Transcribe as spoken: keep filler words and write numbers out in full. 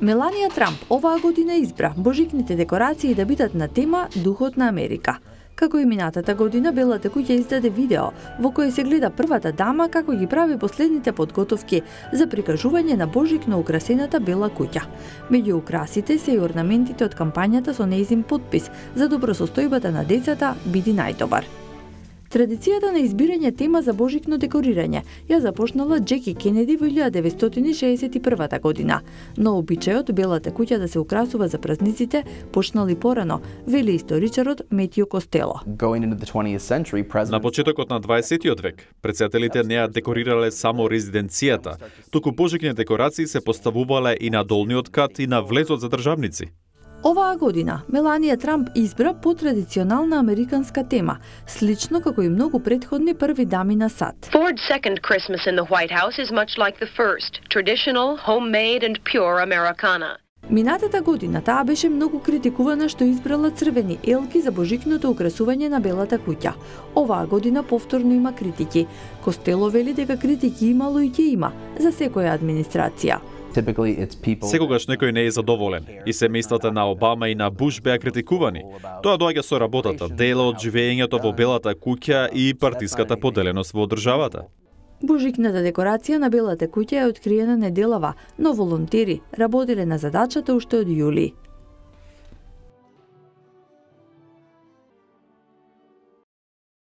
Меланија Трамп оваа година избра божикните декорации да бидат на тема Духот на Америка. Како и минатата година, Белата куќа издаде видео во кое се гледа првата дама како ги прави последните подготовки за прикажување на божикно украсената Бела куќа. Меѓу украсите се и орнаментите од кампањата со нејзин подпис за добросостојбата на децата биди најдобар. Традицијата на избирање тема за божикно декорирање ја започнала Џеки Кенеди во илјада деветстотини и шеесет и прва година, но обичајот Белата куќа да се украсува за празниците почнал и порано, вели историчарот Метју Костело. На почетокот на дваесетиот век, председателите не ја декорирале само резиденцијата, туку божикни декорации се поставувале и на долниот кат и на влезот за државници. Оваа година Меланија Трамп избра потрадиционална американска тема, слично како и многу претходни први дами на САД. Ford's second Christmas in the White House is much like the first, traditional, homemade and pure Americana. Минатата година таа беше многу критикувана што избрала црвени елки за божикното украсување на Белата куќа. Оваа година повторно има критики. Костело вели дека критики имало и ќе има за секоја администрација. Секогаш некој не е задоволен и семејствата на Обама и на Буш беа критикувани. Тоа доаѓа со работата, дела од живеењето во Белата куќа и партиската поделеност во државата. Божикната декорација на Белата куќа е откриена неделава, но волонтери работеле на задачата уште од јули.